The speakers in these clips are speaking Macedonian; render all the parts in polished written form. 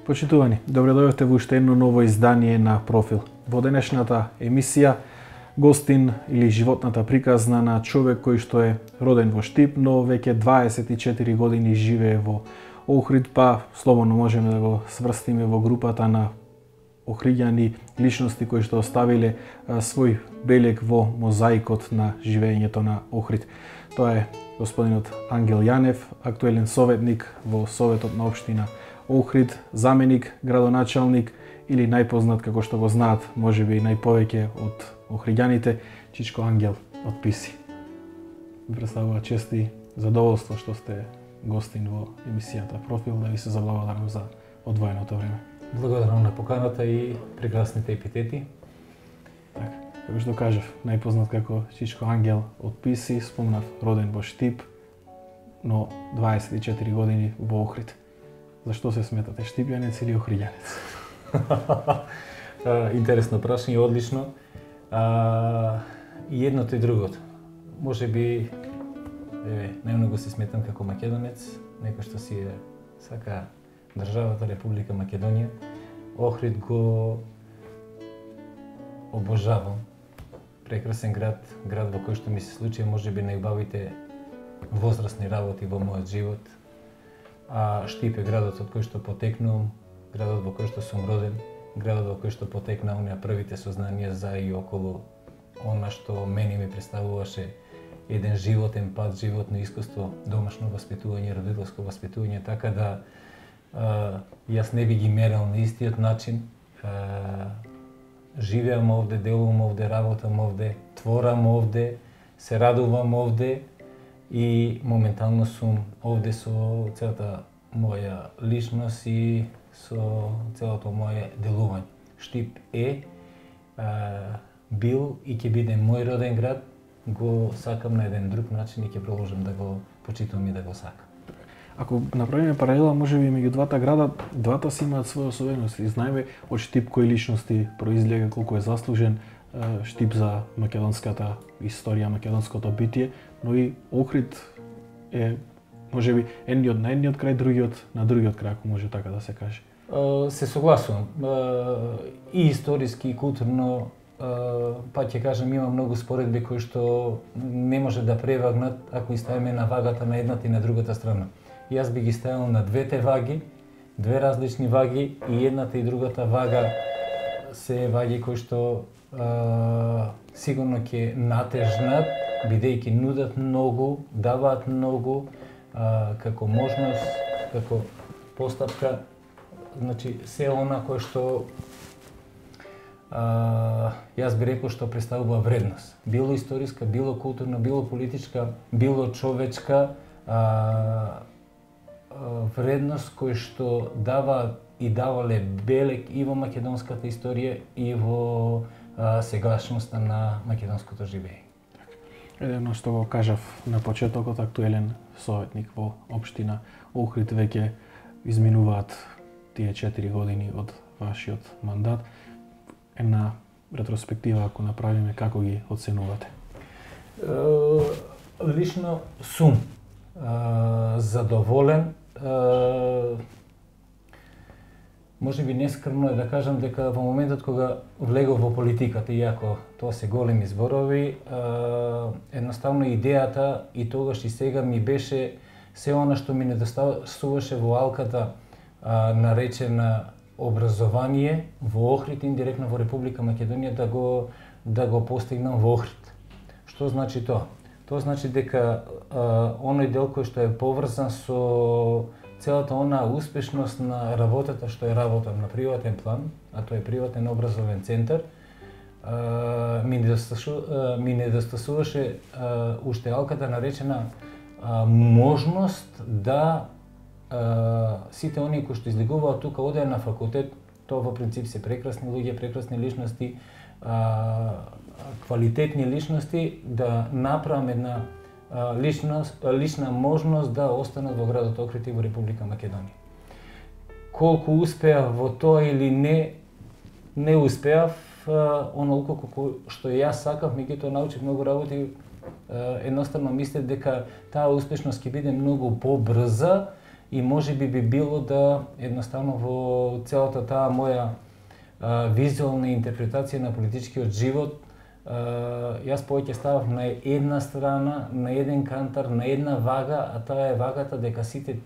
Почитувани, добре дојдовте во уште едно ново издание на Профил. Во денешната емисија гостин или животната приказна на човек кој што е роден во Штип, но веќе 24 години живее во Охрид, па слободно можеме да го сврстиме во групата на охриѓани личности кои што оставиле свој белег во мозаикот на живеењето на Охрид. Тоа е господинот Ангел Јанев, актуелен советник во Советот на општина Охрид, заменик, градоначалник или најпознат како што го знаат, можеби најповеќе од охриѓаните, Чичко Ангел од Писи. Ви представува чест и задоволство што сте гостин во емисијата Профил, да ви се заблагодарам за одвоеното време. Благодарам на поканата и прекрасните епитети. Така, како што кажав, најпознат како Чичко Ангел од Писи, спомнав роден во Штип, но 24 години во Охрид. Зашто се сметате штипјанец или охриѓанец? Интересно прашање, одлично. И едното и другото. Може би најмногу се сметам како македонец, некој што си е сака државата Република Македонија. Охрид го обожавам. Прекрасен град, град во кој што ми се случи можеби најубавите возрастни работи во мојот живот. Штип е градот од кој што потекнувам, градот во кој што сум роден, градот во кој што потекна оние првите сознанија за и околу она што мене ми представуваше еден животен пат, животно искуство, домашно воспитување, родителско воспитување, така да јас не би ги мерил на истиот начин. Живеам овде, делувам овде, работам овде, творам овде, се радувам овде и моментално сум овде со целата моја личност и со целото моје делување. Штип е, бил и ќе биде мој роден град, го сакам на еден друг начин и ќе продолжам да го почитувам и да го сакам. Ако направиме паралела, можеби меѓу двата града, двата си имаат своја особености. Знаеме од Штип кои личности произлега, колку е заслужен Штип за македонската историја, македонското битие, но и Охрид е можеби едниот на едниот крај, другиот на другиот крај, ако може така да се каже. Се согласувам. И историски, и културно, па ќе кажам, има многу споредби кои што не може да превагнат ако ги ставиме на вагата на едната и на другата страна. Јас би ги ставил на двете ваги, две различни ваги, и едната и другата вага се ваги кои што сигурно ќе натежнат, бидејќи нудат многу, даваат многу, како можност, како постапка, значи се она кое што јас би рекол што представува вредност. Било историска, било културна, било политичка, било човечка, вредност кој што дава и давале белег и во македонската историја и во сегашноста на македонското живење. Едно што го кажав на почетокот, актуелен советник во општина Охрид, веќе изминуваат тие 4 години од вашиот мандат. Една ретроспектива ако направиме, како ги оценувате? Лично сум задоволен. Можеби нескрмно е да кажам дека во моментот кога влегов во политиката, иако тоа се големи зборови, едноставно идејата и тогаш и сега ми беше се она што ми недостасуваше во алката наречена образование во Охрид, индиректно во Република Македонија, да го постигнам во Охрид. Што значи тоа? Тоа значи дека оној дел кој што е поврзан со целата она успешност на работата што е работам на приватен план, а тоа е приватен образовен центар, ми недостасуваше уште алката наречена можност да сите оние кои што излегуваат тука одеа на факултет, тоа во принцип се прекрасни луѓе, прекрасни личности, квалитетни личности, да направам една лична можност да останат во градот Охрид и во Република Македонија. Колку успеав во тоа или не успеав, онолку колку што јас сакав, меѓутоа научив многу работи, едноставно мислев дека таа успешност ќе биде многу побрза и можеби би било да едноставно во целата таа моја визуална интерпретација на политичкиот живот, јас повеќе ставав на една страна, на еден кантар, на една вага, а таа е вагата дека сите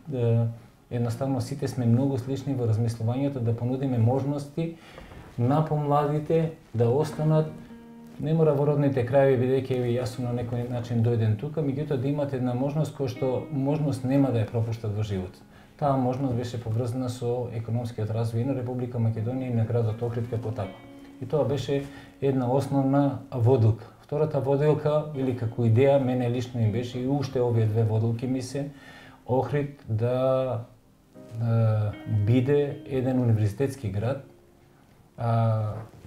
едноставно сите сме многу слични во размислувањето, да понудиме можности на помладите да останат, не мора во родните краеви, бидејќи јас сум на некој начин дојден тука, меѓутоа да имат една можност која што можност нема да ја пропуштат во живот. Таа можност беше поврзана со економскиот развој на Република Македонија и на градот Охрид како таков. И тоа беше една основна водилка. Втората водилка, или како идеја, мене лично им беше и уште овие две водилки ми се, Охрид да биде еден универзитетски град,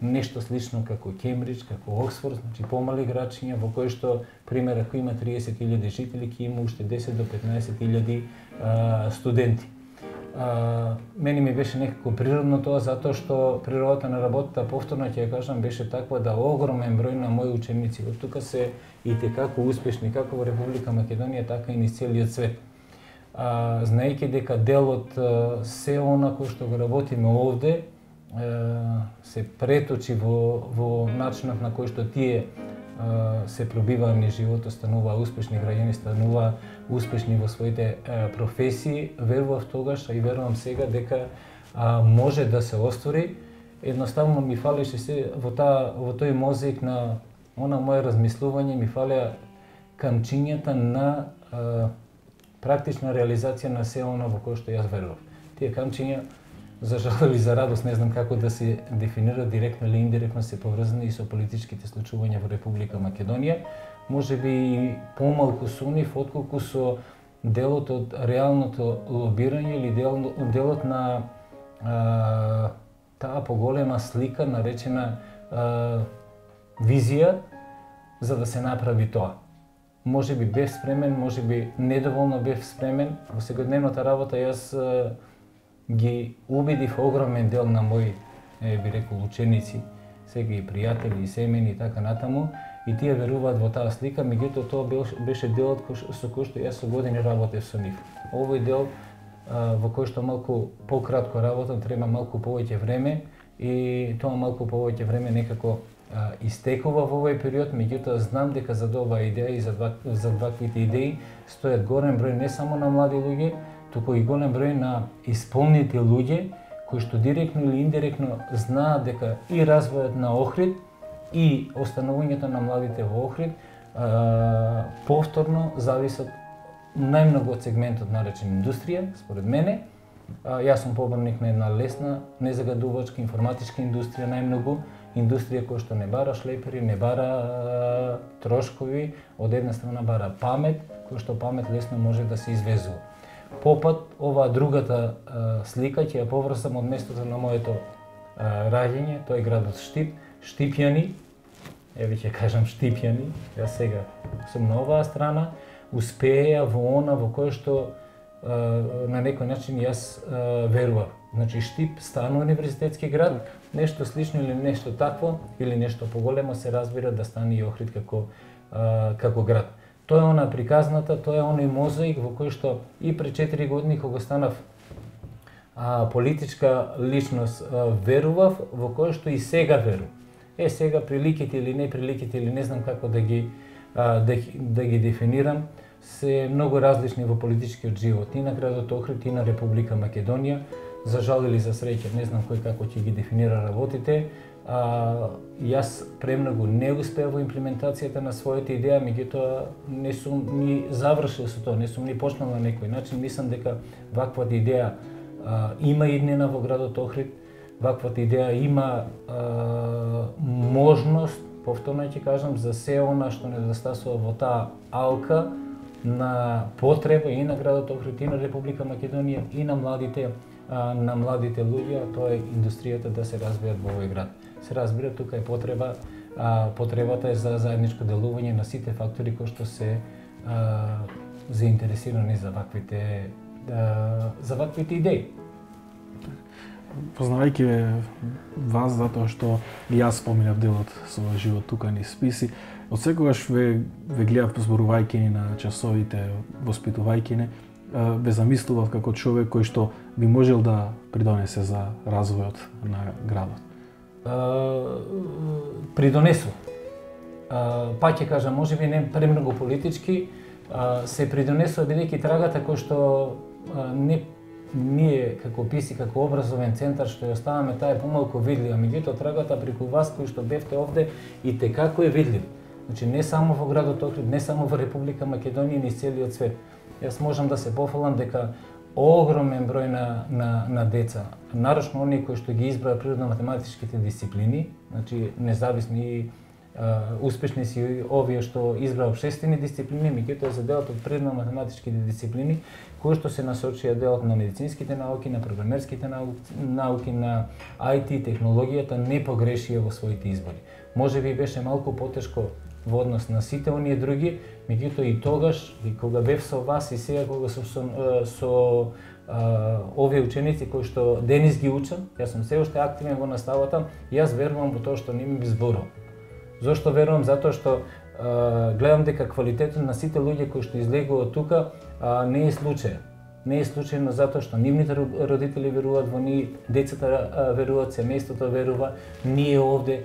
нешто слично како Кембридж, како Оксфорд, значи помали градчиња во кој што, пример, ако има 30.000 жители, ќе има уште 10 до 15.000 студенти. Мене ми беше некако природно тоа, затоа што природата на работата, повторно ќе ја кажам, беше таква да огромен број на мои ученици од тука се и текако успешни, како во Република Македонија, така и низ целиот свет. Знаејќи дека дел од се она кој што го работиме овде, се преточи во начинот на кој што тие се пробиваа низ животот, стануваа успешни граѓани, стануваа успешни во своите професии. Верував тогаш, а и верувам сега дека може да се оствори. Едноставно ми фалеше се во тој мозаик на она мое размислување, ми фалеа камчињата на практична реализација на се она во кое што јас верував. Тие камчиња, за жал или за радост, не знам како да се дефинира, директно или индиректно се поврзани и со политичките случувања во Република Македонија. Можеби и помалку со нив, отколку со делот од реалното лобирање или делот на таа поголема слика, наречена визија, за да се направи тоа. Можеби бев спремен, можеби недоволно бев спремен. Во секојдневната работа јас ги убедив огромен дел на мои, би рекол, ученици, сега и пријатели, и семени и така натаму, и тие веруваат во таа слика, меѓутоа тоа беше делот со кој што јас со години работев со нив. Овој дел во кој што малку пократко работам, треба малку повеќе време, и тоа малку повеќе време некако истекува во овој период, меѓутоа знам дека за оваа идеја и за ваквите идеи стојат голем број не само на млади луѓе, туку и голем број на исполнети луѓе кои што директно или индиректно знаат дека и развојот на Охрид и останувањето на младите во Охрид повторно зависат најмногу од сегментот наречен индустрија, според мене. Јас сум поборник на една лесна, незагадувачка информатичка индустрија, најмногу индустрија која што не бара шлепери, не бара трошкови, од една страна бара памет, која што памет лесно може да се извезува. Попат, оваа другата слика ќе ја поврзам од местото на моето раѓање, тој градот Штип, Штипјани, еве ќе кажам Штипјани, јас сега сум на оваа страна, успеја во она во кое што на некој начин јас верував. Значи Штип стана универзитетски град, нешто слично или нешто такво, или нешто поголемо се разбира да стане и Охрид како град. Тоа е она приказната, тоа е оној мозаик во кој што и пред 4 години кога станав политичка личност верував, во кој што и сега верувам. Сега приликите или неприликите или не знам како да ги дефинирам, се многу различни во политичкиот живот и на градот Охрид и на Република Македонија. За жал или за среќа, не знам кој како ќе ги дефинира работите. Јас премногу не успеав во имплементацијата на својата идеја, меѓутоа не сум ни завршил со тоа, не сум ни почнал на некој начин. Мислам дека ваквата идеја има иднина во градот Охрид, ваквата идеја има можност, повторно ќе кажам, за се она што недостасува во таа алка на потреба и на градот Охрид, и на Република Македонија, и на младите луѓе, тоа е индустријата да се развијат во овој град. Се разбира, тука е потребата е за заедничко делување на сите фактори кои што се заинтересирани за ваквите идеи. Познавајќи вас, затоа што и јас споминав делот својот живот тука низ списи, од секогаш ве гледав зборувајќи ни на часовите, воспитувајќи ни, ве замислувал како човек кој што би можел да придонесе за развојот на градот? Придонесу. Пак ќе кажам, можеби не премногу политички, се придонесува бидејќи трагата кој што ние како ПИС и како образовен центар што ја оставаме, таа е помалку видлива, меѓутоа трагата преку вас кои што бевте овде и текако е видлив. Значи не само во градот Охрид, не само во Република Македонија, ни целиот свет. Јас можам да се пофалам дека огромен број на деца, нарочно оние кои што ги избраа природно-математичките дисциплини, значи независни успешни си овие што избраа општествени дисциплини, меѓутоа за делот од природно-математичките дисциплини, кои што се насочија делот на медицинските науки, на програмерските науки, на IT, технологијата, не погрешија во своите избори. Можеби беше малку потешко во однос на сите оние други, меѓутоа и тогаш, и кога бев со вас и сега кога сум со овие ученици кои што денес ги учам, јас сум се уште активен во наставата, јас верувам во тоа што не ми зборувам. Зошто верувам? Затоа што гледам дека квалитетот на сите луѓе кои што излегуваат тука не е случај. Не е случајно затоа што нивните родители веруваат во нив, децата веруваат, семејството верува, ние овде.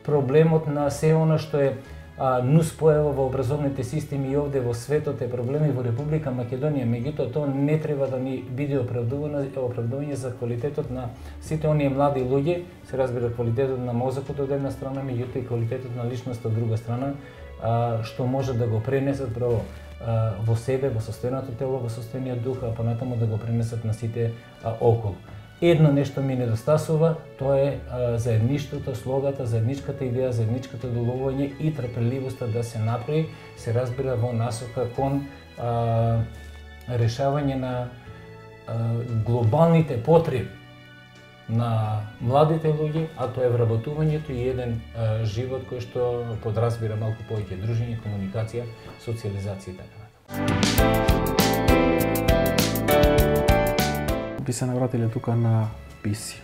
Проблемот на се она што е нуспојава во образовните системи и овде во светот е проблеми во Република Македонија, меѓутоа тоа не треба да ни биде оправдување за квалитетот на сите оние млади луѓе, се разбира квалитетот на мозокот од една страна, меѓутоа и квалитетот на личноста од друга страна, што може да го пренесат во себе, во состојното тело, во состојниот дух, а понатаму да го пренесат на сите околу. Едно нешто ми недостасува, тоа е заедништвото, слогата, заедничката идеја, заедничкото доловување и трпеливоста да се направи, се разбира во насока кон решавање на глобалните потреби на младите луѓе, а тоа е вработувањето и еден живот кој што подразбира малку повеќе дружење, комуникација, социализација и така натаму. Би се навратиле тука на ПИС,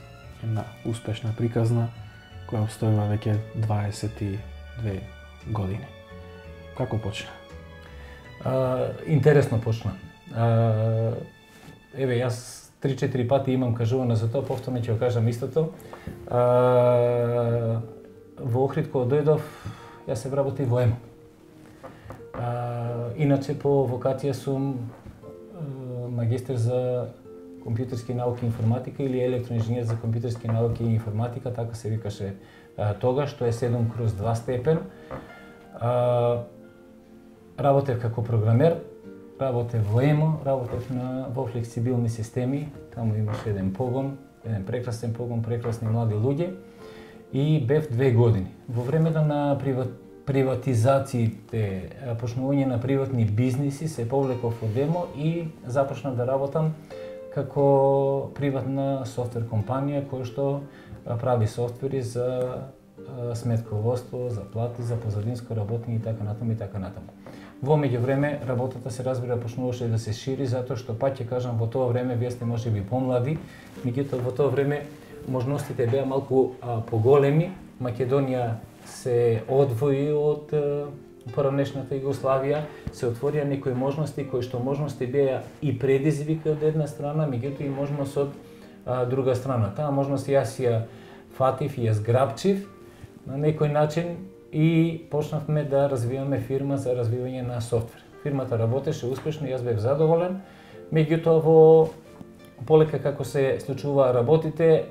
една успешна приказна која обстојува веќе 22 години. Како почна? Интересно почна. Еве, јас 3-4 пати имам кажувано за тоа, повторно ќе го кажам истото. Во Охрид кога дојдов, јас се вработив во ЕМО. Иначе по вокација сум магистер за компјутерски науки и информатика или електроинженер за компјутерски науки и информатика, така се викаше тогаш, што е 7/2 степен. Работев како програмер, работев во ЕМО, работев во флексибилни системи, таму имаше еден погон, еден прекрасен погон, прекрасни млади луѓе и бев 2 години. Во времето на приватизациите, почнување на приватни бизниси, се повлеков од ЕМО и започнав да работам како приватна софтвер компанија која што прави софтвери за сметководство, за плати, за позадинско работење и така натаму и така натаму. Во меѓувреме работата се разбира почнуваше да се шири затоа што пак ќе кажам во тоа време вие сте можеби помлади, меѓутоа во тоа време можностите беа малку поголеми. Македонија се одвои од поранешната Југославија, се отворија некои можности кои што можности беа и предизвик од една страна, меѓутоа и можност од друга страна. Таа можност јас ја фатив и ја зграбчив на некој начин и почнавме да развиваме фирма за развивање на софтвер. Фирмата работеше успешно, јас бев задоволен, меѓутоа во полека како се случуваа работите,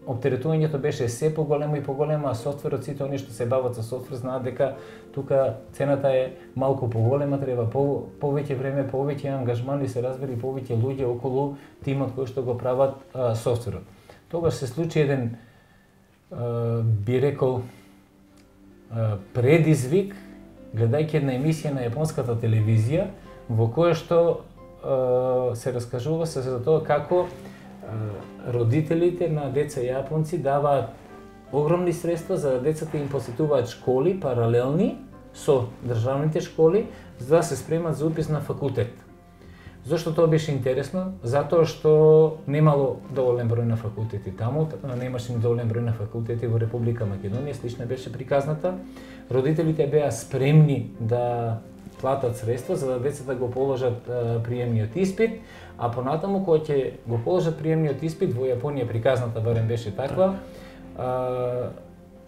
оптеретувањето беше се поголемо и поголемо, а софтверот, сите оние што се бават со софтвер знаат дека тука цената е малку поголема, треба повеќе време, повеќе ангажман и се разбери повеќе луѓе околу тимот кој што го прават софтверот. Тогаш се случи еден, би рекол, предизвик, гледајќи една емисија на јапонската телевизија, во која што се раскажува се за тоа како родителите на деца јапонци даваат огромни средства за да децата им посетуваат школи паралелни со државните школи за да се спремат за упис на факултет. Зошто тоа беше интересно? Затоа што немало доволен број на факултети таму, немаше доволен број на факултети во Република Македонија, слична беше приказната. Родителите беа спремни да платат средства за да децата го положат приемниот испит, а понатаму кога ќе го положат приемниот испит, во Јапонија приказната барем беше таква,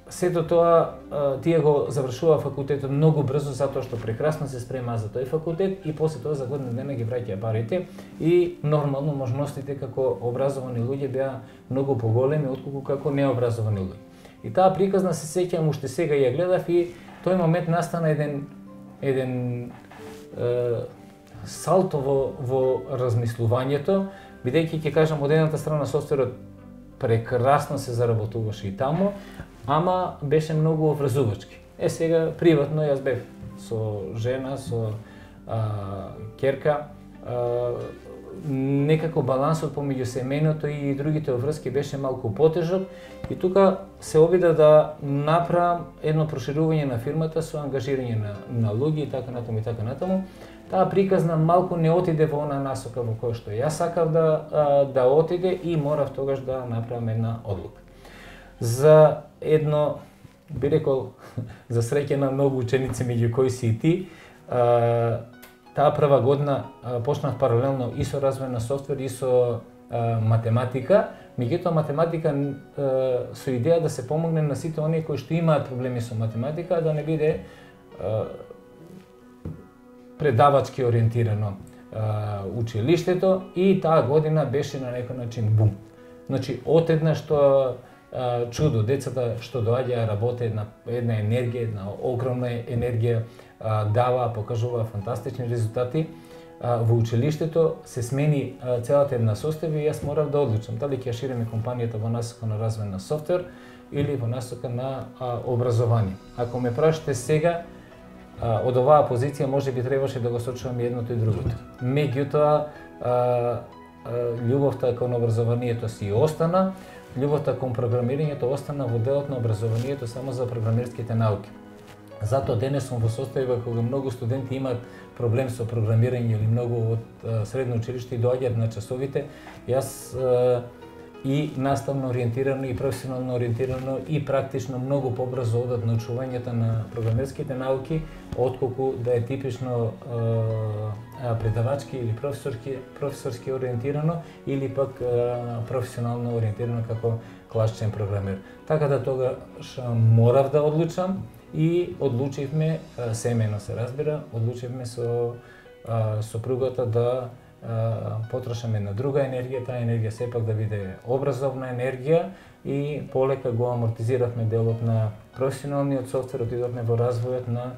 сето тоа тие го завршува факултетот многу брзо затоа што прекрасно се спрема за тој факултет и после тоа за година дена ги враќаја парите и нормално можностите како образовани луѓе беа многу поголеми отколку како необразовани луѓе. И таа приказна се сеќавам уште сега ја гледав и тој момент настана еден салто во размислувањето, бидејќи ќе кажам од едната страна софтверот прекрасно се заработуваше и таму, ама беше многу врзувачки. Сега приватно јас бев со жена, со ќерка, некако балансот помеѓу семејното и другите врски беше малку потежок и тука се обида да направам едно проширување на фирмата со ангажирање на луѓе и така натаму и така натаму. Таа приказна малку не отиде во она насока во која што јас сакав да отиде и морав тогаш да направам една одлука. За едно, би рекол, за среќа на многу ученици меѓу кои си и ти, таа прва година почнав паралелно и со развој на софтвер и со математика, меѓутоа математика со идеја да се помогне на сите оние кои што имаат проблеми со математика, да не биде предавачки ориентирано училиштето и таа година беше на некој начин бум. Значи, отеднаш што чудо, децата што доаѓаа работе една енергија, една огромна енергија, дава, покажува фантастични резултати. Во училиштето се смени целата една состава и јас морав да одлучам дали ќе шириме компанијата во насока на развој на софтвер или во насока на образование. Ако ме прашате сега, од оваа позиција можеби требаше да го сочувам едното и другото. Меѓутоа, љубовта кон образованието си остана, љубовта кон програмирањето остана во делот на образованието само за програмерските науки. Затоа денес сум во состојба кога многу студенти имаат проблем со програмирање или многу од средно училиште и доаѓаат на часовите. Јас и наставно ориентирано, и професионално ориентирано, и практично многу побрзо одат научувањето на програмерските науки, отколку да е типично предавачки или професорски ориентирано, или пак професионално ориентирано како класичен програмер. Така да тогаш морав да одлучам и одлучивме, семејно се разбира, одлучивме со сопругата да потрошаме на друга енергија, таа енергија сепак да биде образовна енергија и полека го амортизиравме делот на професионалниот софтвер, отидовме во развојот на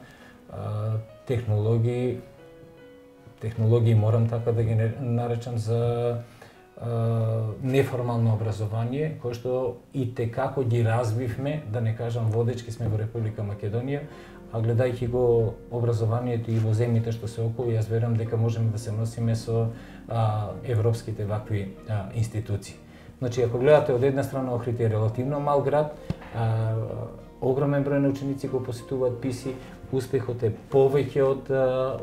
технологии морам така да ги наречам за неформално образование, кој што и текако ги развивме, да не кажам водечки сме во Република Македонија, а гледајќи го образованието и во земјите што се околу, јас верувам дека можеме да се носиме со европските вакви институции. Значи, ако гледате од една страна Охрид е релативно мал град, огромен број на ученици го посетуваат ПИСИ, успехот е повеќе од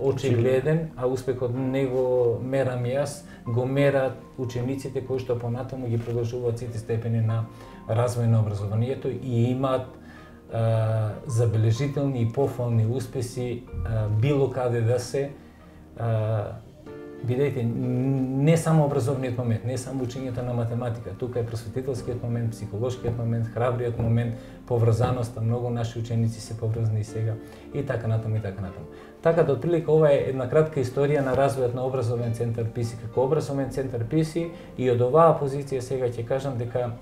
очигледен, а успехот не го мерам јас, го мерат учениците кои што понатаму ги продолжуваат сите степени на развој на образованието и имаат забележителни и пофални успеси било каде да се, видете, не само образовниот момент, не само учењето на математика, тука е просветителскиот момент, психолошкиот момент, храбриот момент, поврзаноста, многу наши ученици се поврзани и сега и така натаму и така натаму. Така да отприлика ова е една кратка историја на развојот на образовен центар ПИСИ како образовен центар ПИСИ и од оваа позиција сега ќе кажам дека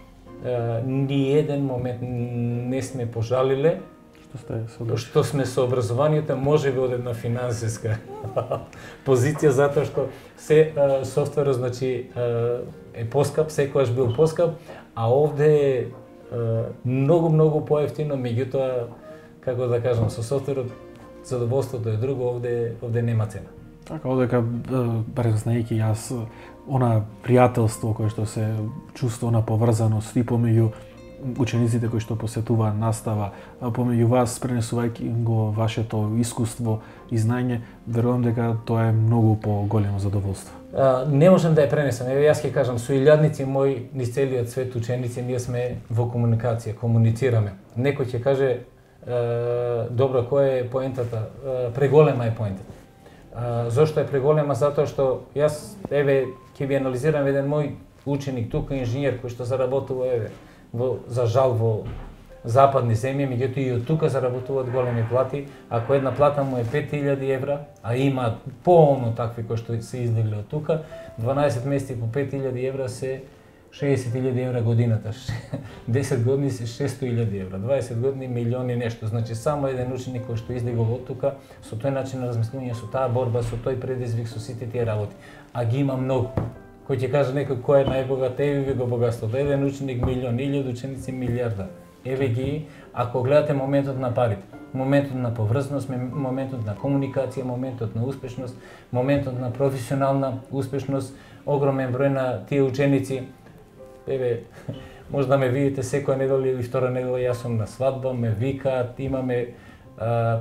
ни еден момент не сме пожалиле што сме со образованието, можеби од една финансиска позиција, затоа што се софтверот значи е поскап, секогаш бил поскап, а овде е многу поевтино, меѓутоа, како да кажам, со софтверот задоволството е друго, овде нема цена. Така, одека, барем знаејќи јас, она пријателство кое што се чувства, она поврзаност и помеѓу учениците кои што посетуваат настава, помеѓу вас, пренесувајќи го вашето искуство и знање, верувам дека тоа е многу поголемо задоволство. Не можам да ја пренесам. Еве јас ќе кажам, со илјадници мои низ целиот свет ученици, ние сме во комуникација, комуницираме. Некој ќе каже добро, која е поентата? Преголема е поентата. Зошто е преголема? Затоа што јас, ќе ви анализирам еден мој ученик тука, инженер, кој што заработува, за жал, во западни земји, меѓутоа и од тука заработуваат големи плати. Ако една плата му е 5000 евра, а има полно такви кои што се излегли од тука, 12 месеци по 5000 евра се 60.000 евра годината. 10 години се 600.000 евра, 20 години милиони нешто. Значи само еден ученик кој што излегол од тука, со тој начин на размислување, со таа борба, со тој предизвик, со сите тие работи. А ги има многу. Кој ќе каже некој кој е најбогат, ви го богатството. Еден ученик милион, 1000 ученици милиарда. Еве ги, ако гледате моментот на парите, моментот на поврзаност, моментот на комуникација, моментот на успешност, моментот на професионална успешност, огромен број на тие ученици. Може да ме видите секоја недела или втора недела, јас сум на свадба, ме викаат, имаме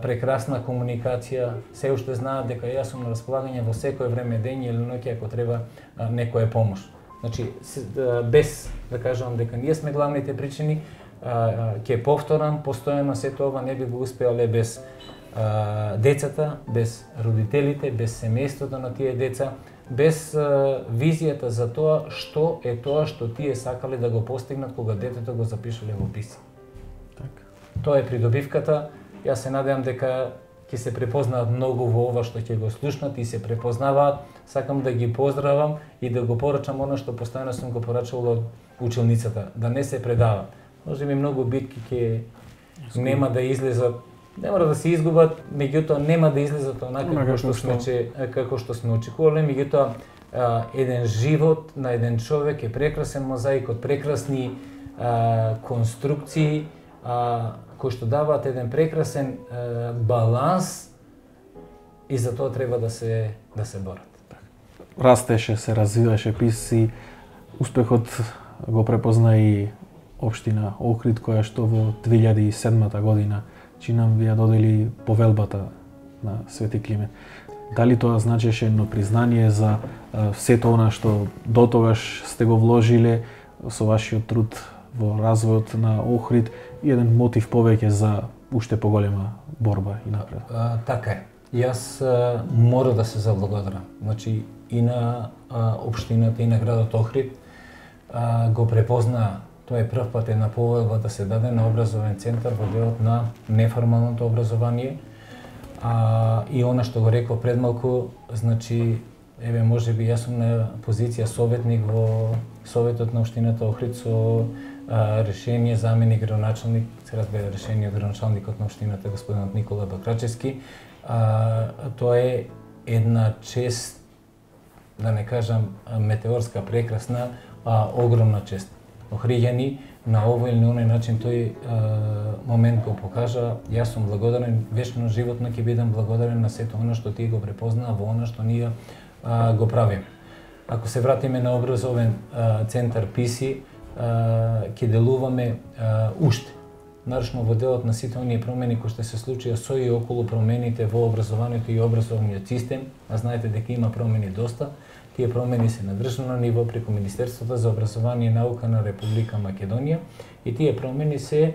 прекрасна комуникација, се уште знаат дека јас сум на располагање во секое време, ден или ноќе, ако треба некоја помош. Значи, без да кажам дека ние сме главните причини, ќе повторам, постојано сето ова не би го успеале без децата, без родителите, без семејството на тие деца, без визијата за тоа што тие сакале да го постигнат кога детето го запишале во писи. Тоа е придобивката. Јас се надевам дека ќе се препознаат многу во ова што ќе го слушнат и се препознаваат. Сакам да ги поздравам и да го порачам она што постојано сум го порачувал од училницата, да не се предава. Може би многу битки ќе нема да излезат, не мора да се изгубат, меѓутоа нема да излезат онака како што сме очекувале, меѓутоа еден живот на еден човек е прекрасен мозаик од прекрасни конструкции, кои што даваат еден прекрасен баланс и за тоа треба да се борат. Растеше, се развиваше писи, успехот го препозна и општина Охрид, која што во 2007 година чинам ви ја додели повелбата на Свети Климент. Дали тоа значеше едно признание за сето она што дотогаш сте го вложиле со вашиот труд во развојот на Охрид и еден мотив повеќе за уште поголема борба и напред? Така е. Јас мора да се заблагодарам. Значи и на општината и на градот Охрид го препозна. Тоа е прв пат една повелба да се даде на образовен центар во делот на неформалното образование. И она што го реков пред малку, значи, може би јас сум на позиција советник во Советот на општината Охрид со решение заменик градоначалник, се разбира решение од градоначалникот на општината господинот Никола Бакрачевски. Тоа е една чест, да не кажам метеорска, прекрасна, огромна чест. Охриѓани на овој или на оној начин тој момент го покажа. Јас сум благодарен, вечно животно ќе бидам благодарен на сето оно што тие го препознаа во оно што ние го правиме. Ако се вратиме на образовен центар ПИСИ, ќе делуваме уште. Нарочно во делот на сите оние промени кои што се случија со и околу промените во образованието и образовниот систем, а знаете дека има промени доста. Тие промени се на државно ниво преку Министерството за образование и наука на Република Македонија и тие промени се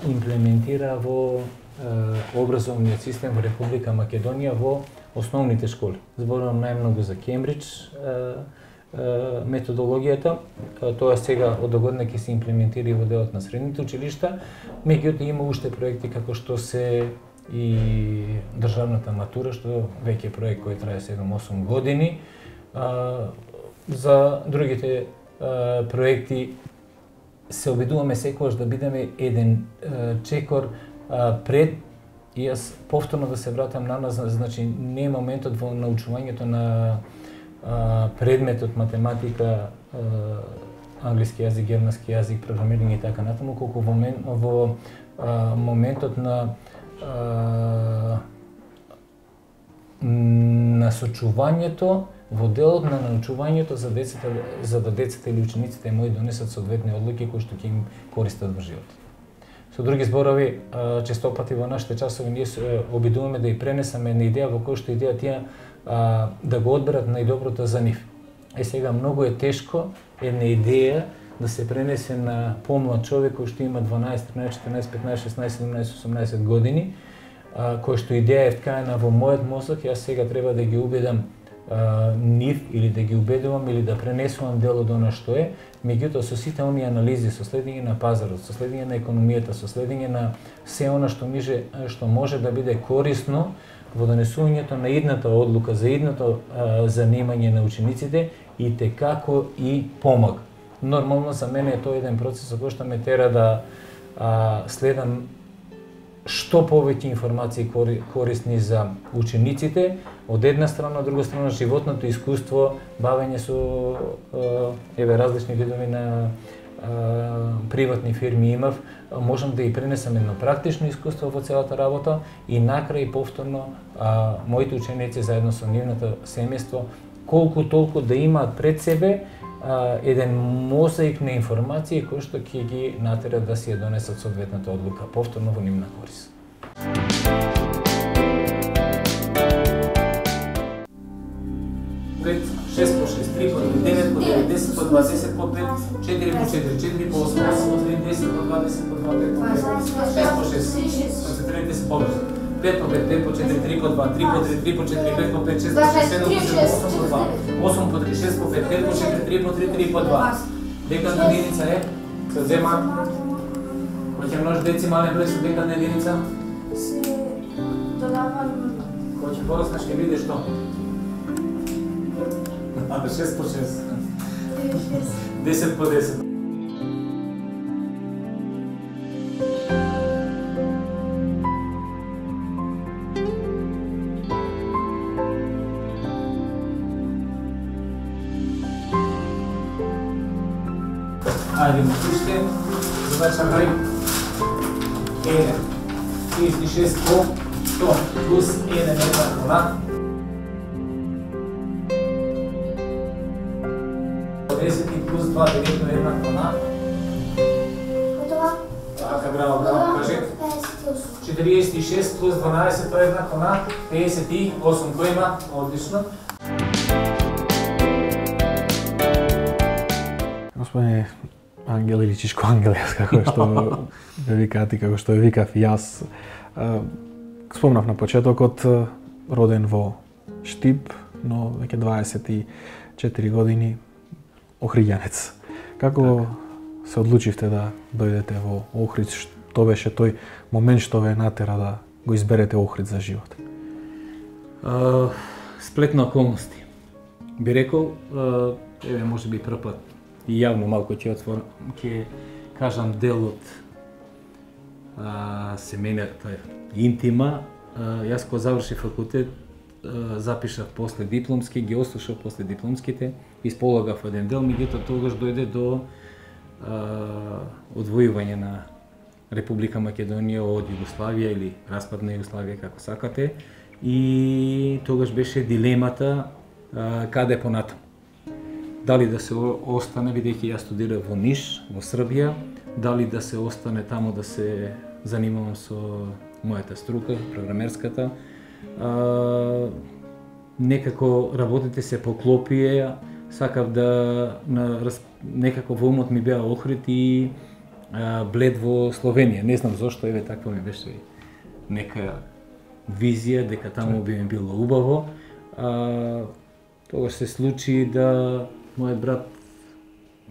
имплементира во образовниот систем во Република Македонија во основните школи. Зборувам најмногу за Кембридж методологијата, тоа сега од догодина ќе се имплементира и во делот на средните училишта, меѓутоа има уште проекти како што се и државната матура, што веќе е проект кој трае 7-8 години. За другите проекти се обидуваме секогаш да бидеме еден чекор пред. И јас повторно да се вратам на нас, значи не е моментот во научувањето на предметот математика, англиски јазик, германски јазик, програмирање и така натаму, колку во моментот на насочувањето во делот на научувањето за да децата или учениците мои донесат соодветни одлуки кои што ќе им користат во животот. Со други зборови, честопати во нашите часови ние се обидуваме да ја пренесаме една идеја во која што идеја тие да го одберат најдоброто за нив. Сега многу е тешко една идеја да се пренесе на помлад човек кој што има 12, 13, 14, 15, 16, 17, 18 години, кој што идеја е вткаена во мојот мозок, јас сега треба да ги убедам нив или да ги убедувам или да пренесувам дел од она што е, меѓутоа со сите оние анализи, со следење на пазарот, со следење на економијата, со следење на се она што може да биде корисно во донесувањето на идната одлука за идното занимање на учениците и текако и помага. Нормално за мене е тоа еден процес кој што ме тера да следам што повеќе информации корисни за учениците, од една страна, од друга страна животното искуство, бавење со различни видови на приватни фирми имав, можам да и пренесам едно практично искуство во целата работа и накрај повторно моите ученици заедно со нивното семејство колку толку да имаат пред себе еден мозаик на информации кои што ќе ги натера да си ја донесат соодветната одлука повторно во нивна корис. 6 по 6, 3 по 3, 9 по 9, 10 по 2, 10 по 5, 4 по 4, 4 по 8, 8 по 3, 10 по 2, 10 по 2, 5 по 5, 6 по 6, концентрирайте се побрзо. 5 по 5, 5 по 4, 3 по 2, 3 по 3, 3 по 4, 5 по 5, 6 по 6, 7 по 7, 8 по 2, 8 по 3, 6 по 5, 5 по 4, 3 по 3, 3 по 2. Декадна единица е, се взема, кој ќе множи децимален број со декадна единица? Се додава... Кој ќе пораснеш ќе видиш што? 6 по 6. 10 по 10. Ајде му слуште, задача број 1. 36 по 100 плюс 1 еднакво на 10 плюс 2 директно еднакво на Готова? Така, браво, браво, кажи 46 плюс 12 тоа е еднакво на 58, кој има? Одлично. Господине Ангел или Чичко Ангел, како што ве викаат и како што ве викав и јас. Спомнав на почетокот, роден во Штип, но веќе 24 години охриѓанец. Како се одлучивте да дојдете во Охрид? Што беше тој момент што ве натера да го изберете Охрид за живот? Сплет на околности. Би рекол, еве може би прв пат и јавно малку ќе кажам дел од семејната интима. Јас кога завршив факултет, запишав после дипломски, ги ослушав после дипломските, исполагав еден дел, меѓутоа тогаш дојде до одвојување на Република Македонија од Југославија или распад на Југославија, како сакате, и тогаш беше дилемата каде понатаму. Дали да се остане, бидејќи јас студирав во Ниш, во Србија, дали да се остане таму да се занимавам со мојата струка, програмерската. Некако работите се поклопија, сакав да некако во умот ми беа Охрид и Блед во Словенија. Не знам зошто, еве таква ми беше нека визија дека таму би ми било убаво. Тогаш се случи да мојот брат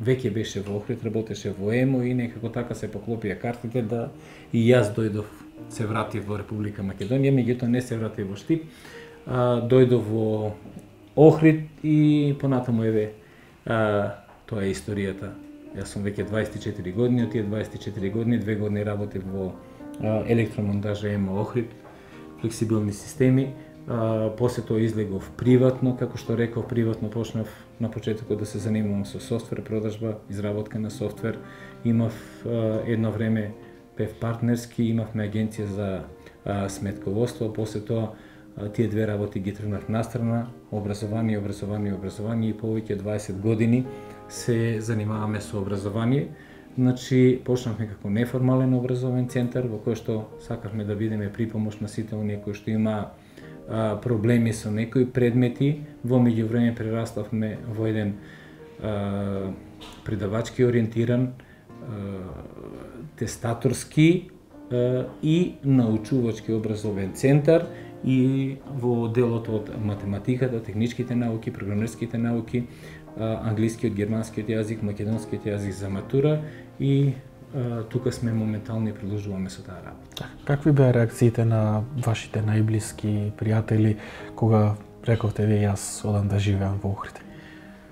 веќе беше во Охрид, работеше во ЕМО и некако така се поклопија картите да и јас дојдов, се вратив во Република Македонија, меѓутоа не се вратив во Штип, дојдов во Охрид и понатаму еве тоа е историјата. Јас сум веќе 24 години, од тие 24 години 2 години работев во електромонтажа ЕМО Охрид, флексибилни системи. После тоа излегов приватно, како што реков, приватно почнав на почетокот да се занимавам со софтвер продажба, изработка на софтвер. Имав едно време бев партнерски, имавме агенција за сметководство, после тоа тие две работи ги тргнав настрана, образование и повеќе 20 години се занимаваме со образование. Значи, почнавме како неформален образовен центар во кој што сакавме да бидеме припомош на сите оние кои што има проблеми со некои предмети. Во меѓувреме прераставме во еден предавачки ориентиран, тестаторски и научувачки образовен центар и во делот од математиката, техничките науки, програмерските науки, англискиот, германскиот јазик, македонскиот јазик за матура и тука сме моментално и продолжуваме со таа работа. Какви беа реакциите на вашите најблиски пријатели кога рековте вие јас одам да живеам во Охрид?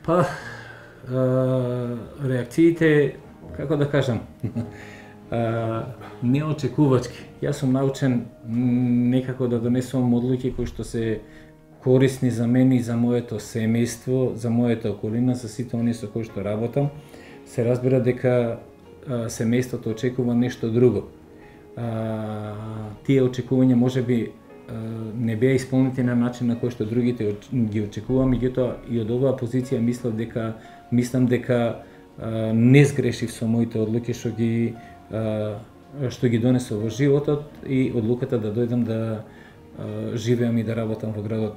Па реакциите, како да кажам, неочекувачки. Јас сум научен некако да донесувам одлуки кои што се корисни за мене и за моето семејство, за мојата околина, за сите оние со кои што работам. Се разбира дека семејството очекува нешто друго. Тие очекувања можеби не беа исполнети на начин на кој што другите ги очекува, меѓутоа и од оваа позиција мислам дека не сгрешив со моите одлуки што ги донесов во животот и одлуката да дојдам да живеам и да работам во градот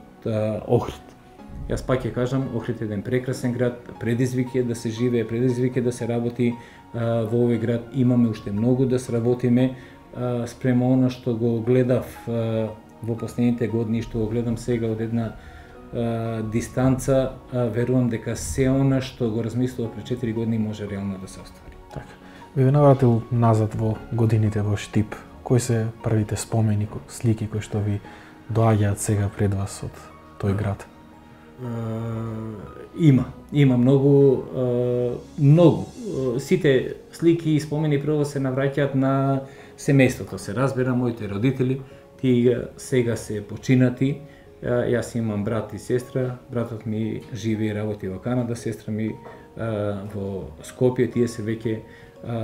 Охрид. Јас пак ќе кажам, Охрид е еден прекрасен град, предизвик е да се живее, предизвик е да се работи во овој град. Имаме уште многу да сработиме спрема она што го гледав во последните години и што го гледам сега од една дистанца, верувам дека се она што го размислував пред 4 години може реално да се оствари. Така. Би ве навратил назад во годините во Штип. Кои се првите спомени, слики кои што ви доаѓаат сега пред вас од тој град? Има многу. Сите слики и спомени прво се навраќаат на семејството. Се разбира, моите родители, тие сега се починати. Јас имам брат и сестра. Братот ми живее и работи во Канада, сестра ми во Скопје. Тие се веќе,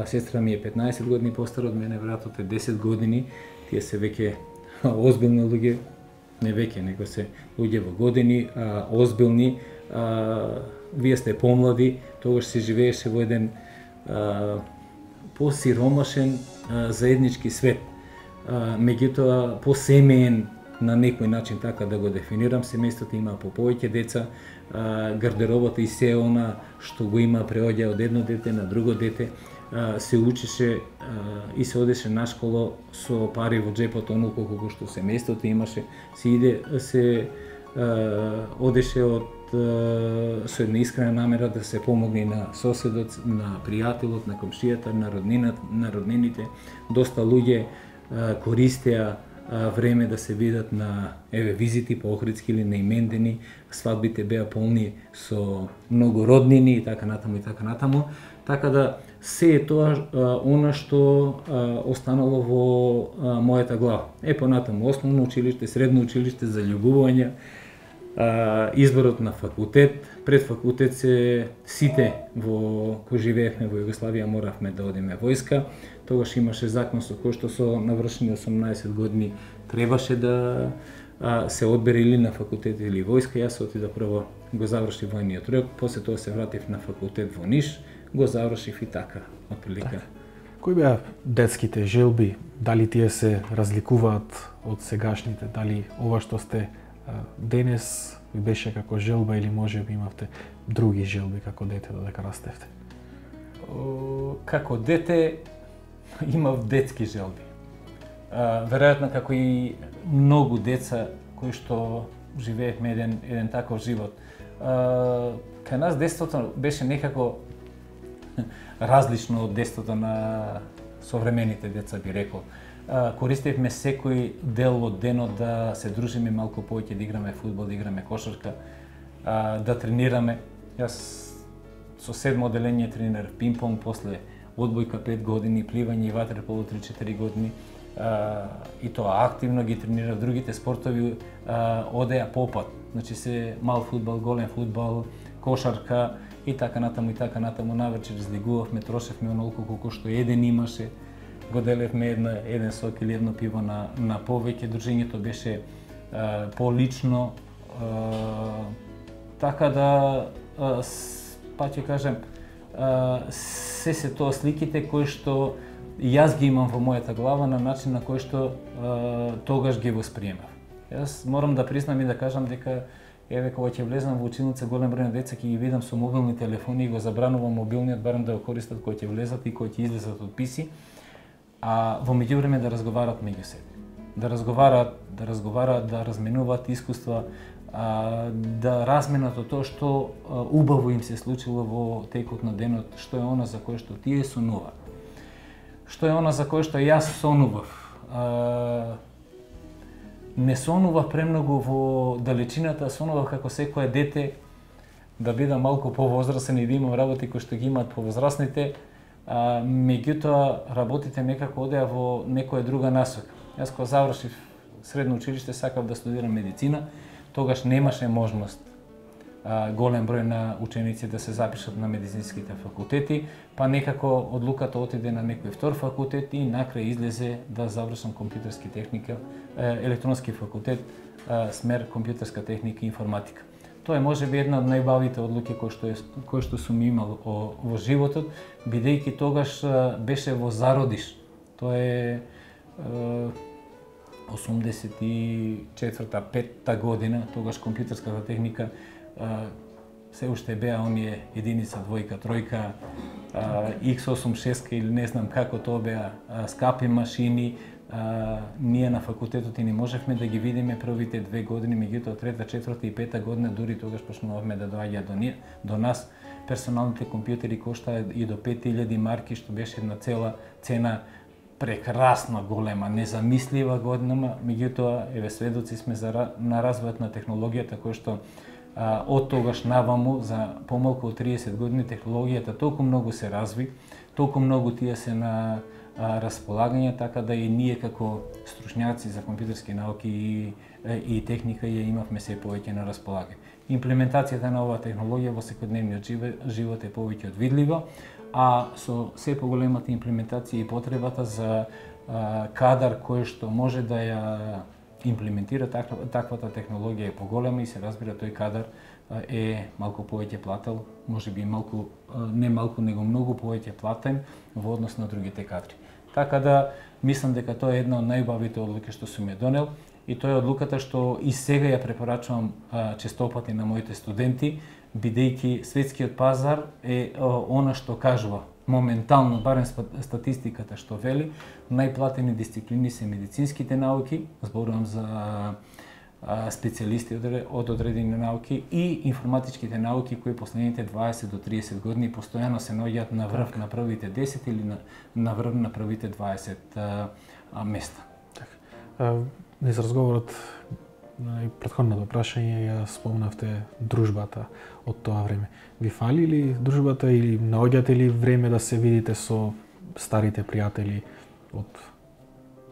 сестра ми е 15 години постара од мене, братот е 10 години. Тие се веќе озбилни луѓе, не веќе, него се луѓе во години, озбилни. Вие сте помлади, тогаш се живееше во еден посиромашен заеднички свет. Меѓутоа посемеен на некој начин, така да го дефинирам. Семејството има по повеќе деца, гардеробата и се она што го има преоѓа од едно дете на друго дете. Се учеше и се одеше на школа со пари во џепот, онолку колку што семејството имаше. Се одеше со една искрена намера да се помогне на соседот, на пријателот, на комшијата, на роднините. Доста луѓе користеа време да се видат на визити по Охридски или на имендени. Свадбите беа полни со многу роднини и така натаму. Така да се е тоа она што останало во мојата глава. Понатаму основно училиште, средно училиште за љубување, изборот на факултет. Пред факултет се сите кои живеевме во Југославија моравме да одиме војска. Тогаш имаше закон со кој што со навршени 18 години требаше да се одбере или на факултет или војска. Јас отидов прво, го завршив војниот рок, после тоа се вратив на факултет во Ниш, го завршив и така, отприлика. Кои беа детските желби? Дали тие се разликуваат од сегашните? Дали ова што сте денес ви беше како желба или можеби имавте други желби како дете додека растевте? Како дете имав детски желби. Веројатно како и многу деца кои што живеевме еден таков живот. Кај нас детството беше некако различно од детството на современите деца, би рекол. Користевме секој дел од денот да се дружиме малку повеќе, да играме фудбал, да играме кошарка, да тренираме. Јас со 7 оделение тренирав пинг-понг, после одбојка 5 години, пливање и ватерполо 3-4 години. И тоа активно ги тренирав. Другите спортови одеа попат. Значи се мал фудбал, голем фудбал, кошарка и така натаму. Навечер излегувавме, трошевме онолку колку што еден имаше. Го делевме еден сок или едно пиво на повеќе. Дружењето беше полично. Така да, па ќе кажем, се тоа сликите кои што јас ги имам во мојата глава на начин на кој што тогаш ги восприемав. Јас морам да признам и да кажам дека Еве кога ќе влезам во училница, голем број на деца ќе ги видам со мобилни телефони и го забранувам мобилниот барем да го користат кога ќе влезат и кога ќе излезат од писи, а во меѓувреме да разговарат меѓу себе. Да разговарат, да разменуваат искуства, да разменат од тоа што убаво им се случило во текот на денот, што е она за кое што тие сонуваат. Што е она за кое што јас сонував. Не сонував премногу во далечината, сонував како секое дете да бидам малку повозрасен и да имам работи кои што ги имаат повозрасните, меѓутоа работите некако одеа во некоја друга насока. Јас кога завршив средно училиште сакав да студирам медицина, тогаш немаше можност голем број на ученици да се запишат на медицинските факултети, па некако одлуката отиде на некој втор факултет и накрај излезе да завршам компјутерски техника, електронски факултет, смер компјутерска техника и информатика. Тоа е можеби една од најбавите одлуки кои што сум имал во животот, бидејќи тогаш беше во зародиш. Тоа е 84-та, 5-та година, тогаш компјутерската техника се уште беа оние единица, двојка, тројка, X86 или не знам како тоа беа скапи машини. Ние на факултетот и не можевме да ги видиме првите 2 години, меѓутоа трета, четврта и пета година дури тогаш почнувавме да доаѓаат до нас. Персоналните компјутери коштаа и до 5000 марки, што беше една цела цена прекрасна, голема, незамислива година, меѓутоа еве сведоци сме на развојот на технологијата кој што од тогаш наваму за помалку од 30 години технологијата толку многу се разви, толку многу тие се на располагање, така да и ние како стручњаци за компјутерски науки и техника ја имавме се повеќе на располагање. Имплементацијата на оваа технологија во секојдневниот живот е повеќе од видлива, а со се поголемата имплементација и потребата за кадар кој што може да ја имплементира таквата технологија е поголема и се разбира тој кадар е малку повеќе плател, можеби малку, не малку, него многу повеќе платен во однос на другите кадри. Така да мислам дека тоа е една од најубавите одлуки што сум ја донел и тоа е одлуката што и сега ја препорачувам честопати на моите студенти, бидејќи светскиот пазар е она што кажува моментално, барем статистиката што вели, најплатени дисциплини се медицинските науки, зборувам за специјалисти од одредени науки и информатичките науки кои последните 20 до 30 години постојано се наоѓаат на врв на првите 10 или на врв на првите 20 места. Низ разговорот и претходното прашање ја спомнавте дружбата од тоа време. Ви фали ли дружбата или наоѓате ли време да се видите со старите пријатели од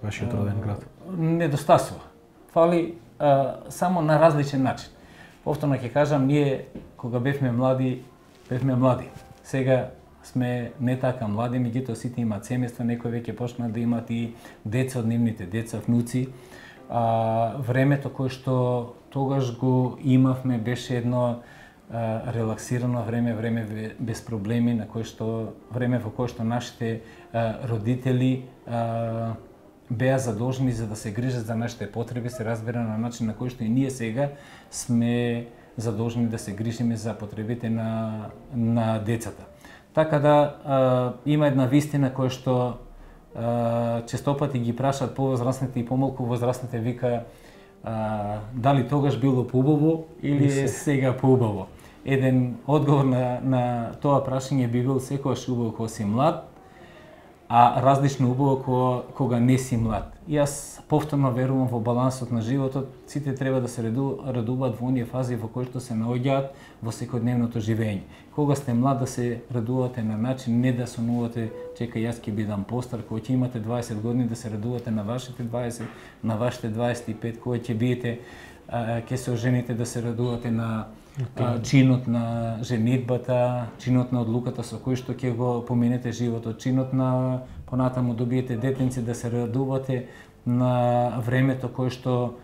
вашиот роден град? Недостасува. Фали само на различен начин. Повторно ќе кажам, ние кога бевме млади. Сега сме не така млади, меѓутоа сите имаат семејства, некои веќе почнаа да имаат и деца од нивните деца, внуци. Времето кое што тогаш го имавме беше едно релаксирано време без проблеми, на кое што време во кое што нашите родители беа задолжени за да се грижат за нашите потреби, се разбира на начин на кој што и ние сега сме задолжени да се грижиме за потребите на децата. Така да има една вистина која што честопати ги прашаат повозрасните и помалку возрасните, вика дали тогаш било поубаво или е сега поубаво. Еден одговор на тоа прашање би бил секогаш убаво кога си млад, а различно убаво кога не си млад. Јас повторно верувам во балансот на животот, сите треба да се радуваат во оние фази во кои што се наоѓаат во секојдневното живење. Кога сте млад да се радувате на начин, не да сонувате, чекај јас ќе бидам постар, кога ќе имате 20 години да се радувате на вашите 20, на вашите 25, кога ќе биете, ќе се ожените да се радувате на чинот на женитбата, чинот на одлуката со кој што ќе го поминете животот, чинот на понатаму добиете детенци, да се радувате на времето кое што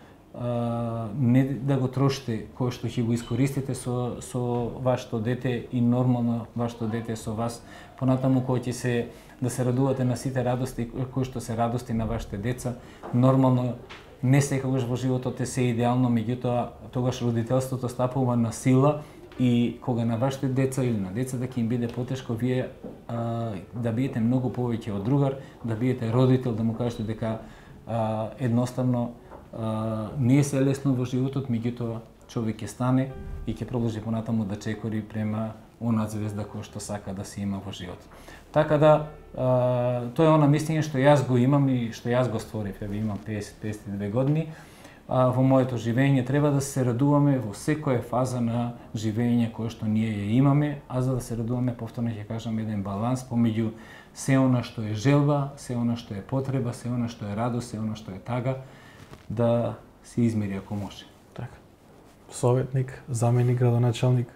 не да го трошите, кое што ќе го искористите со вашето дете и нормално вашето дете со вас. Понатаму кој ќе се да се радувате на сите радости кои што се радости на вашите деца, нормално Не секогаш во животот е се идеално, меѓутоа тогаш родителството стапува на сила и кога на вашите деца или на децата ќе им биде потешко, вие да биете многу повеќе од другар, да биете родител, да му кажете дека едноставно не е се лесно во животот, меѓутоа човек ќе стане и ќе продолжи понатаму да чекори према она звезда која што сака да се има во животот. Така да, тоа е она мислење што јас го имам и што јас го створив. Еве имам 50-52 години. Во моето живење треба да се радуваме во секоја фаза на живење кое што ние ја имаме, а за да се радуваме, повторно ќе кажам, еден баланс помеѓу се она што е желба, се она што е потреба, се она што е радост, се она што е тага, да се измери ако може. Така. Советник, заменик градоначалник,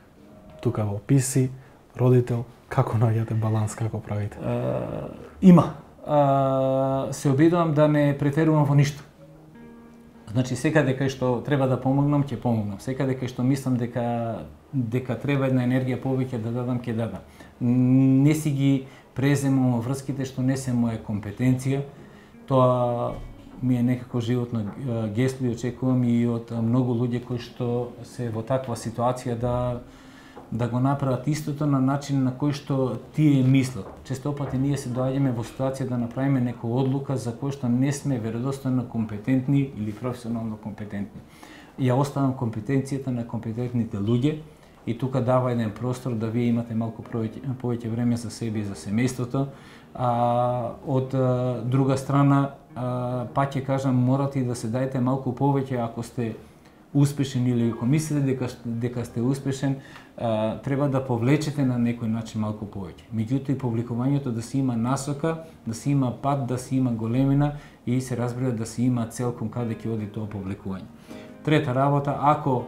тука во Писи, родител, како наоѓате баланс, како правите? Има. Се обидувам да не претерувам во ништо. Значи, секаде кај што треба да помогнам, ќе помогнам. Секаде кај што мислам дека треба една енергија повеќе да дадам, ќе дадам. Не си ги преземам врските што не се моја компетенција. Тоа ми е некако животно гесло и очекувам и од многу луѓе кои што се во таква ситуација да го направат истото на начин на кој што тие мислат. Честопати ние се доаѓаме во ситуација да направиме некоја одлука за кој што не сме веродостојно компетентни или професионално компетентни. Ја оставам компетенцијата на компетентните луѓе и тука дава еден простор да вие имате малку повеќе време за себе и за семејството. Од друга страна, пак ќе кажам, морате и да се дајте малку повеќе ако сте успешен или ако мислите дека сте успешен, треба да повлечете на некој начин малку повеќе. Меѓутоа и повлекувањето да се има насока, да се има пат, да се има големина и се разбира да се има цел кон каде ќе оди тоа повлекување. Трета работа, ако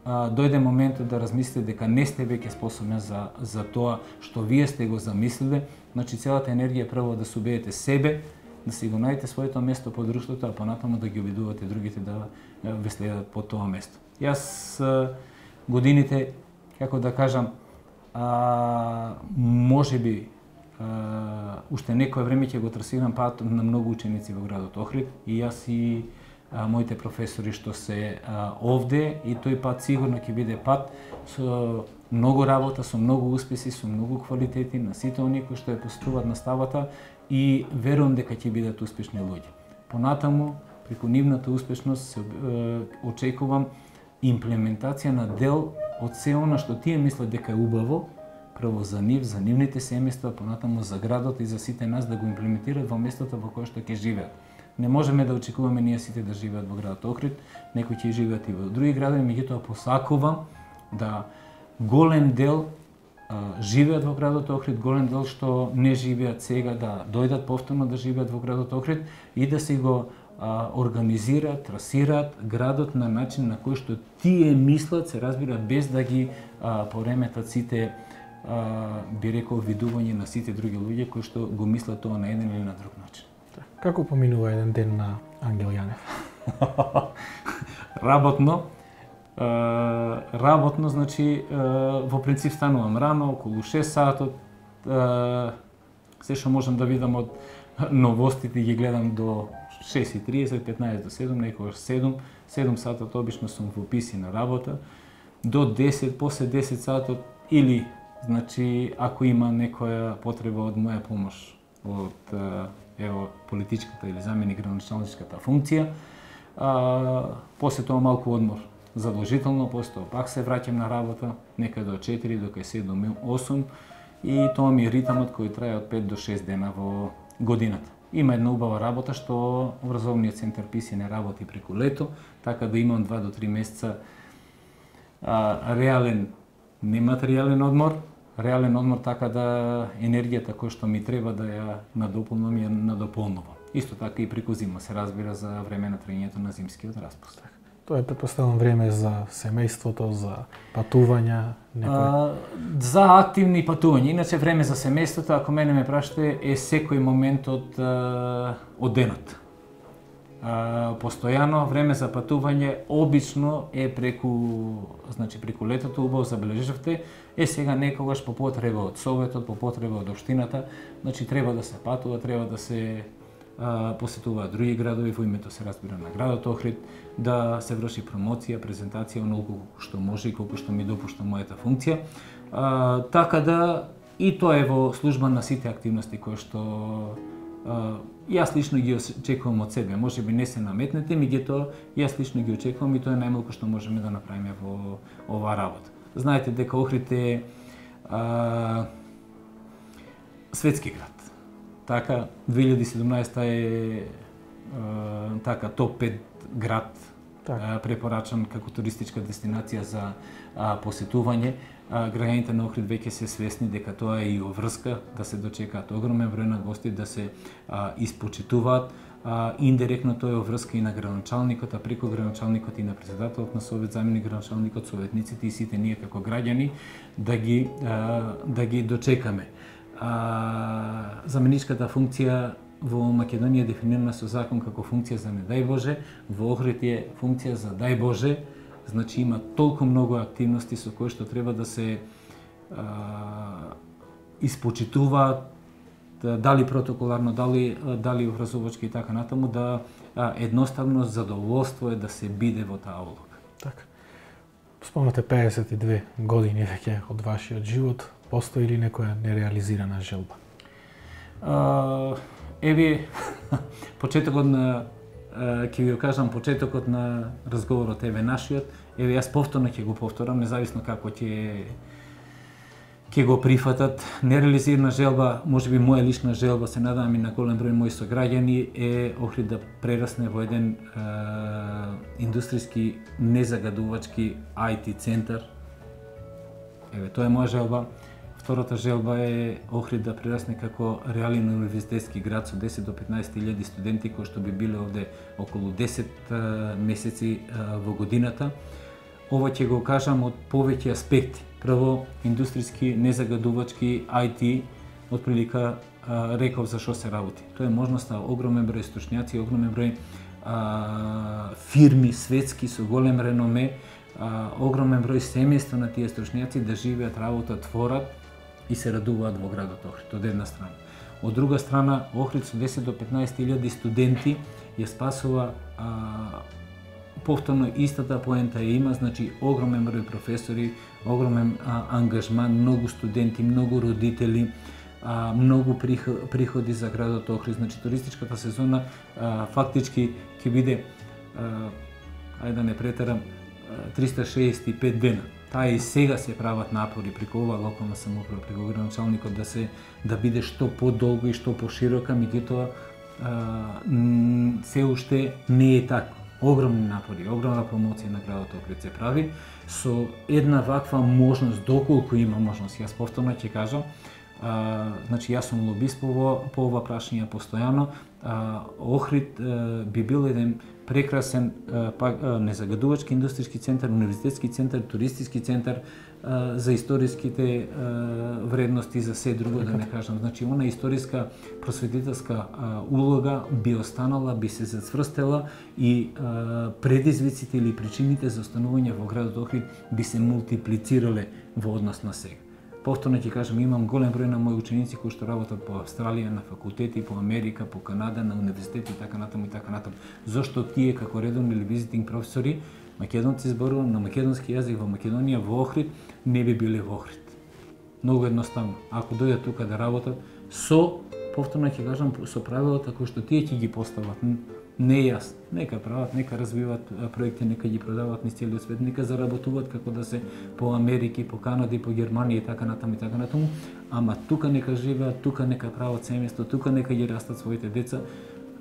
дојде моментот да размислите дека не сте веќе способни за тоа што вие сте го замислиле, значи целата енергија прво да се убедите себе, да си го најдете своето место по друштвото, а понатаму да ги обидувате другите да ве следат по тоа место. Јас годините, како да кажам, можеби уште некое време ќе го трасирам пат на многу ученици во градот Охрид и јас и моите професори што се овде и тој пат сигурно ќе биде пат со многу работа, со многу успеси, со многу квалитети на сите оние кои што ја постуват наставата и верувам дека ќе бидат успешни луѓе. Понатаму, преку нивната успешност очекувам имплементација на дел од се она што тие мислат дека е убаво, прво за нив, за нивните семејства, понатаму за градот и за сите нас да го имплементираат во местото во кое што ќе живеат. Не можеме да очекуваме ние сите да живеат во градот Охрид, некои ќе живеат и во други градови, меѓутоа посакувам да голем дел живеат во градот Охрид, голем дел што не живеат сега да дојдат повторно да живеат во градот Охрид и да се го организираат, трасираат градот на начин на кој што тие мислат, се разбира, без да ги пореметат сите, би рекол, видување на сите други луѓе кои што го мислат тоа на еден или на друг начин. Како поминува еден ден на Ангел Јанев? Работно, значи, во принцип станувам рано, околу 6 сатот, се што можам да видам од новостите ги гледам до 6:30, 15 до 7, некогаш 7 сатот обично сум во Писи на работа, до 10, после 10 сатот или, значи, ако има некоја потреба од моја помош од политичката или заменик градоначалничката функција, после тоа малку одмор задолжително, после тоа пак се враќам на работа, некаде до 4, до 7, 8 и тоа ми е ритамот кој трае од 5 до 6 дена во годината. Има една убава работа што образовниот центар Писи не работи преку лето, така да имам 2 до 3 месеца реален, нематеријален одмор, така да енергијата која што ми треба да ја надополнам ја надополнувам. Исто така и преку зима се разбира за време на траењето на зимскиот распуст. Тоа е претпоставувам време за семејството, за патувања, за активни патувања. Иначе време за семејството, ако мене ме прашате, е секој момент од денот. Постојано време за патување обично е преку летото, убаво забележавте, сега некогаш по потреба од Советот, по потреба од општината, значи треба да се патува, треба да се посетуваат други градови во името се разбира на градот Охрид, да се врши промоција, презентација онолку што може и колку што ми допушта мојата функција. Така да и тоа е во служба на сите активности кои што јас лично ги очекувам од себе. Можеби не се наметнете, меѓутоа јас лично ги очекувам и тоа е најмалку што можеме да направиме во оваа работа. Знаете дека Охрид е светски град. Така 2017 е така топ 5 град препорачан како туристичка дестинација за посетување. Граѓаните на Охрид веќе се свесни дека тоа е и врска да се дочекаат огромен број на гости, да се испочитуваат. Индиректно тоа е врска и на градоначалникот, а преку градоначалникот и на претседателот на Совет, заменик градоначалникот, советниците и сите ние како граѓани да ги дочекаме. Заменичката функција во Македонија е дефинирана со закон како функција за не дај Боже, во Охрид е функција за дај Боже. Значи има толку многу активности со кои што треба да се испочитуваат, дали протоколарно, дали образовачки и така натаму, да едноставно задоволство е да се биде во таа улога. Така. Спомнате 52 години веќе од вашиот живот, постои ли некоја нереализирана желба? Еве почетокот на ќе ви кажам почетокот на разговорот еве нашиот, еве јас повторно ќе го повторам, независно како ќе го прифатат. Нереализирана желба, можеби моја лична желба, се надевам и на голем број мои сограѓани, е Охрид да прерасне во еден индустријски незагадувачки IT центар. Еве тоа е моја желба. Втората желба е Охрид да прерасне како реален универзитетски град со 10 до 15.000 студенти кои што би биле овде околу 10 месеци во годината. Ова ќе го кажам од повеќе аспекти. Прво, индустријски, незагадувачки, IT, отприлика реков за што се работи. Тоа е можноста огромен број стручњаци, огромен број фирми светски со голем реноме, огромен број семејства на тие стручњаци да живеат, работат, творат и се радуваат во градот Охрид, од една страна. Од друга страна, Охрид со 10 до 15.000 студенти ја спасува повторно истата поента ја има, значи огромен број професори, огромен ангажман, многу студенти, многу родители, многу приходи за градот Охрид. Значи туристичката сезона фактички ќе биде, ајде да не претерам, 365 дена. Таа и сега се прават напори преку ова локална самоуправа, преку градоначалникот да биде што подолго и што поширока, меѓутоа се уште не е така. Огромни напори, огромна промоција на градот Охрид се прави со една ваква можност, доколку има можност. Јас повторно ќе кажам, значи јас сум лобист по ова прашање постојано. Охрид би бил еден прекрасен незагадувачки индустријски центар, универзитетски центар, туристички центар за историските вредности, за се друго да не кажам. Значи, она историска просветителска улога би останала, би се зацврстела и предизвиците или причините за останување во градот Охрид би се мултиплицирале во однос на сега. Повторно ќе кажам, имам голем број на мои ученици кои што работат по Австралија, на факултети, по Америка, по Канада, на универзитети и така натаму и така натаму. Зошто тие како редовни или визитинг професори, македонци зборувам на македонски јазик во Македонија, во Охрид, не би биле во Охрид. Многу едноставно. Ако дојдат тука да работат со, повторно ќе кажам, со правилата кои што тие ќе ги постават, не јас. Нека прават, нека развиваат проекти, нека ги продаваат низ целиот свет, нека заработуваат како да се по Америки, по Канада и по Германија и така натаму, ама тука нека живеат, тука нека прават семејство, тука нека ги растат своите деца.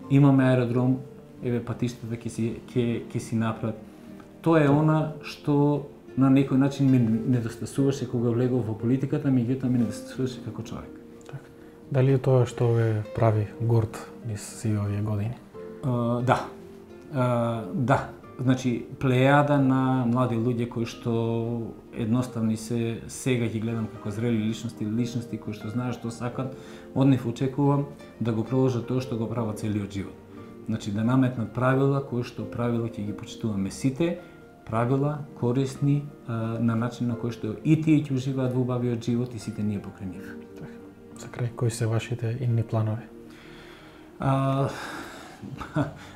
Имаме аеродром, еве патиштата ќе си направат. Тоа е она што на некој начин ми недостасуваше кога влегов во политиката, меѓутоа ми недостасуваше како човек. Так. Дали е тоа што ве прави горд низ сите овие години? Да. Значи, плејада на млади луѓе кои што едноставни се, сега ги гледам како зрели личности кои што знаат што сакат, од нив очекувам да го продолжат тоа што го прават целиот живот. Значи, да наметнат правила кои што правила ќе ги почитуваме сите, правила корисни на начин на кој што и тие ќе уживаат во убавиот живот и сите ние покрај нив. За крај, кои се вашите идни планови?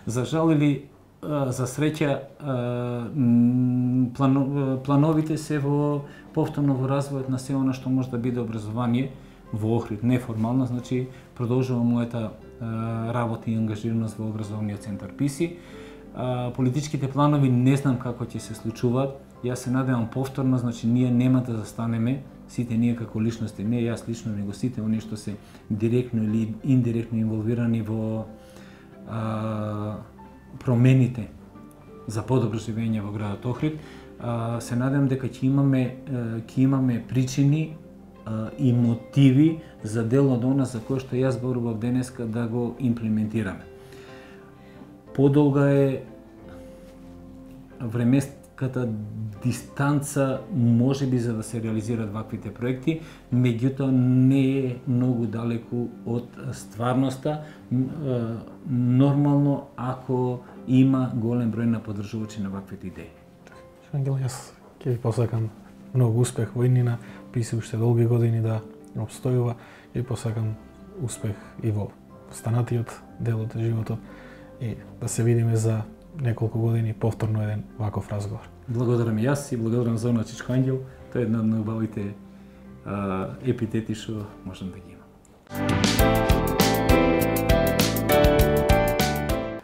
За жал или за среќа, плановите се во повторно во развојот на се она што може да биде образование во Охрид, неформално, значи продолжувам мојата работа и ангажираност во образовниот центар ПИСИ. Политичките планови не знам како ќе се случуваат. Јас се надевам повторно, значи ние нема да застанеме, сите ние како личности, не јас лично, него сите оние што се директно или индиректно инволвирани во промените за подобро живење во градот Охрид. Се надевам дека ќе имаме причини и мотиви за дел од она за кој што јас зборував денеска да го имплементираме. Подолга е времеската дистанца можеби за да се реализираат ваквите проекти, меѓутоа не е многу далеку од стварноста, нормално ако има голем број на поддржувачи на ваквите идеи. Ангел, јас ќе ви посакам многу успех во иднина, ПИСИ уште долги години да обстојува и посакам успех и во останатиот дел од животот и да се видиме за неколку години повторно еден ваков разговор. Благодарам и јас и благодарам за Чичко Ангел. Тоа е една од најубавите епитети што можам да ги имам.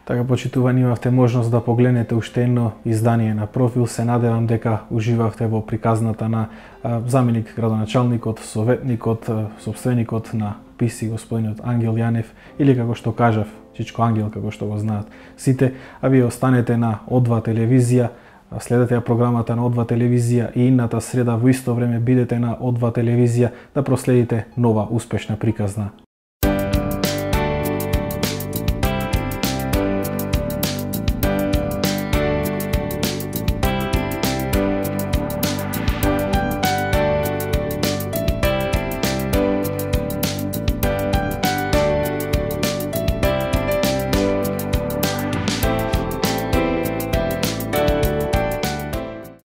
Така, почитувани, имавте можност да погледнете уште едно издание на Профил. Се надевам дека уживавте во приказната на заменик градоначалникот, советникот, сопственикот на ПИСИ, господинот Ангел Јанев, или како што кажав, Чичко Ангел, како што го знаат сите, а вие останете на О2 телевизија, следете ја програмата на О2 телевизија и идната среда во исто време бидете на О2 телевизија да проследите нова успешна приказна